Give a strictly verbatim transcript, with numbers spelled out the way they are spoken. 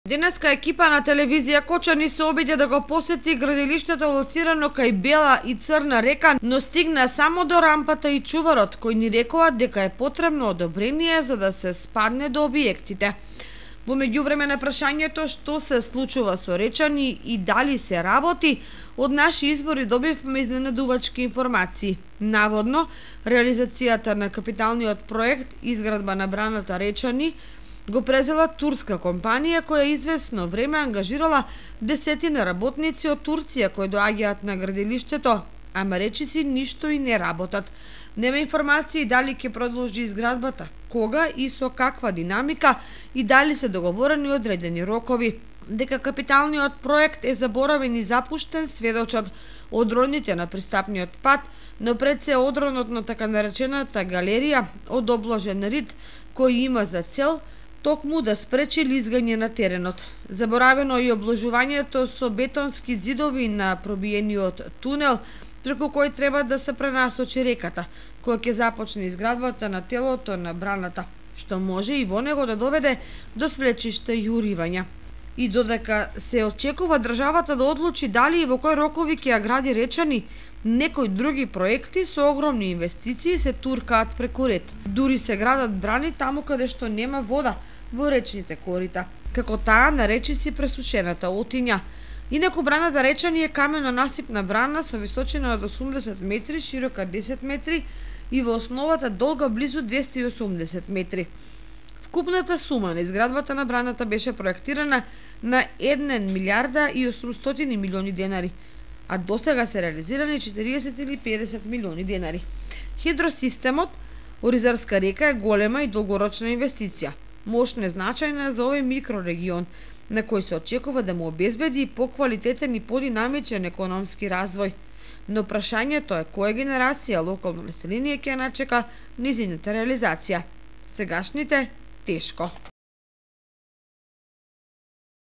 Денеска екипа на телевизија Кочани се обиде да го посети градилиштето лоцирано кај Бела и Црна река, но стигна само до рампата и чуварот, кој ни рекоа дека е потребно одобрение за да се спадне до објектите. Во меѓувреме на прашањето што се случува со Речани и дали се работи, од наши извори добивме изненадувачки информации. Наводно, реализацијата на капиталниот проект изградба на браната Речани го презела турска компанија која известно време ангажирала десетина работници од Турција кои доаѓаат на градилиштето, ама речиси ништо и не работат. Нема информации дали ќе продолжи изградбата, кога и со каква динамика и дали се договорени одредени рокови. Дека капиталниот проект е заборавен и запуштен сведочат одроните на пристапниот пат, но пред се одронот на така наречената галерија од обложен рид кој има за цел токму да спречи лизгање на теренот. Заборавено и обложувањето со бетонски ѕидови на пробиениот тунел, преку кој треба да се пренасочи реката, која ќе започне изградбата на телото на браната, што може и во него да доведе до свлечишта и уривања. И додека се очекува државата да одлучи дали и во кои рокови ќе ја гради Речани, некои други проекти со огромни инвестиции се туркаат преку ред. Дури се градат брани таму каде што нема вода во речните корита, како таа на речиси пресушената Отиња. Инаку браната Речани е камено-насипна брана со височина од осумдесет метри, широка десет метри и во основата долга близу двесте и осумдесет метри. Вкупната сума на изградбата на браната беше проектирана на една милијарда и осумстотини милиони денари, а досега се реализирани четириесет или педесет милиони денари. Хидросистемот Оризарска река е голема и долгорочна инвестиција, мощна и значајна за овој микрорегион, на кој се очекува да му обезбеди поквалитетен и подинамичен економски развој. Но прашањето е која генерација локално население ќе начека низината реализација. Сегашните тешко.